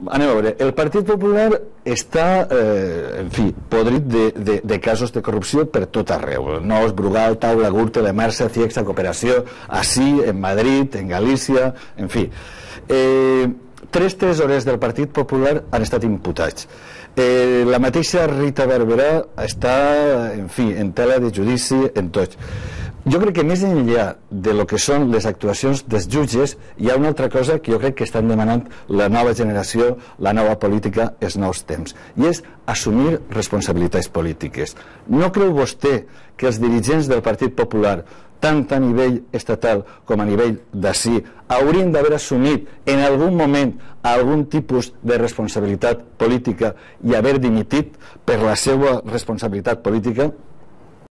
Anem a veure, el Partit Popular està, en fi, podrit de casos de corrupció per tot arreu. Nos, Brugal, Taula, Gürtel, Emersa, Ciexta, Cooperació, així, en Madrid, en Galícia, en fi. 3 tresorers del Partit Popular han estat imputats. La mateixa Rita Barberà està, en fi, en tela de judici en tots. Jo crec que més enllà de lo que són les actuacions dels jutges, hi ha una altra cosa que jo crec que estan demanant la nova generació, la nova política, els nous temps, i és assumir responsabilitats polítiques. No creu vostè que els dirigents del Partit Popular, tant a nivell estatal com a nivell d'ací, haurien d'haver assumit en algun moment algun tipus de responsabilitat política i haver dimitit per la seva responsabilitat política?